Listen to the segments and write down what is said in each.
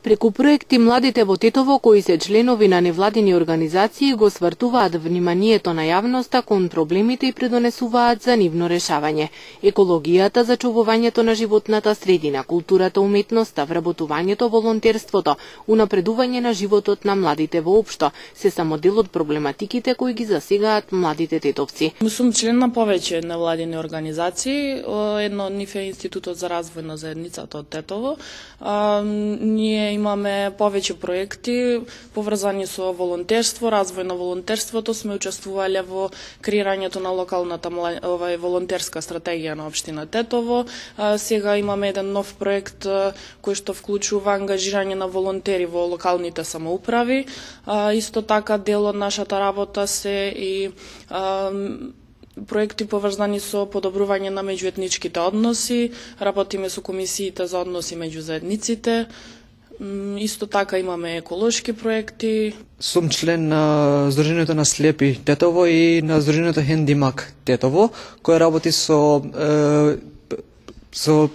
Преку проекти младите во Тетово, кои се членови на невладини организации, го свртуваат вниманието на јавноста кон проблемите и предонесуваат за нивно решавање. Екологијата, зачувувањето на животната средина, културата, уметноста, вработувањето, волонтерството, унапредување на животот на младите воопшто, се само дел од проблематиките кои ги засегаат младите тетовци. Сум член на повеќе невладини организации. Едно од нив е Институтот за развој на заедницата од Тетово. Ние имаме повеќе проекти поврзани со волонтерство, развој на волонтерството. Сме учествувале во креирањето на локалната волонтерска стратегија на општина Тетово. Сега имаме еден нов проект кој што вклучува ангажирање на волонтери во локалните самоуправи. Исто така дел од нашата работа се и проекти поврзани со подобрување на меѓуетничките односи, работиме со комисиите за односи меѓу заедниците. Исто така имаме еколошки проекти. Сум член на Здруженијето на слепи Тетово и на Здруженијето Хендимак Тетово, кој работи со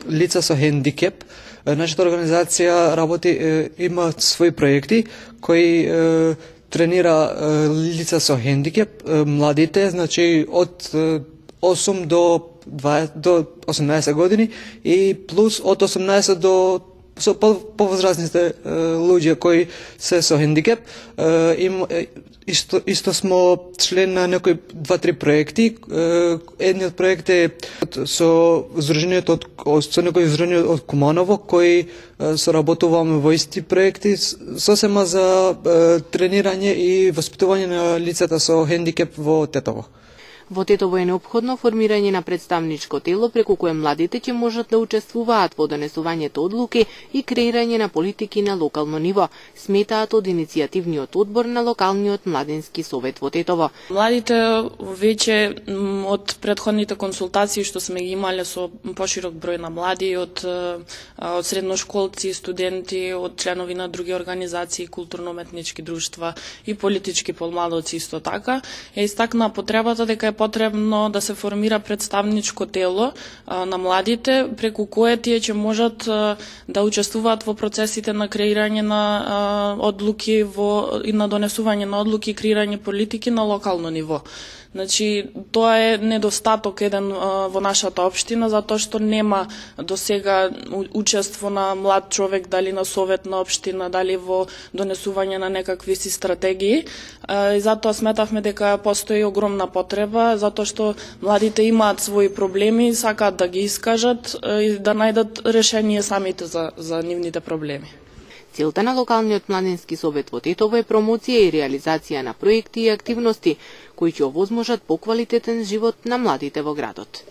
лица со хендикеп. Нашата организација работи, има своји проекти кои тренира лица со хендикеп, младите, значи од 8 до 18 години и плюс од 18 до со повозрастните луѓе кои се со хендикеп. Исто смо член на некои 2-3 проекти. Едниот проект е со Здруженијето со некој Здруженијето од Куманово, кои соработуваме во исти проекти сосема за тренирање и воспитување на лицата со хендикеп во Тетово. Во Тетово е неопходно формирање на представничко тело преку кое младите ќе можат да учествуваат во донесувањето одлуки и креирање на политики на локално ниво, сметаат од иницијативниот одбор на локалниот младински совет во Тетово. Младите веќе од претходните консултации што сме ги имале со поширок број на млади од средношколци, студенти, од членови на други организации, културно-уметнички друштва и политички помладоци исто така, е истакна потребата дека е потребно да се формира представничко тело на младите, преку кое тие ќе можат да учествуваат во процесите на креирање на одлуки и на донесување на одлуки и креирање политики на локално ниво. Значи, тоа е недостаток еден во нашата општина, затоа што нема досега учество на млад човек, дали на совет на општина, дали во донесување на некакви си стратегии. И затоа сметавме дека постои огромна потреба, затоа што младите имаат своји проблеми, сакаат да ги искажат и да најдат решение самите за нивните проблеми. Целта на локалниот младински совет во Тетово е промоција и реализација на проекти и активности кои ќе овозможат поквалитетен живот на младите во градот.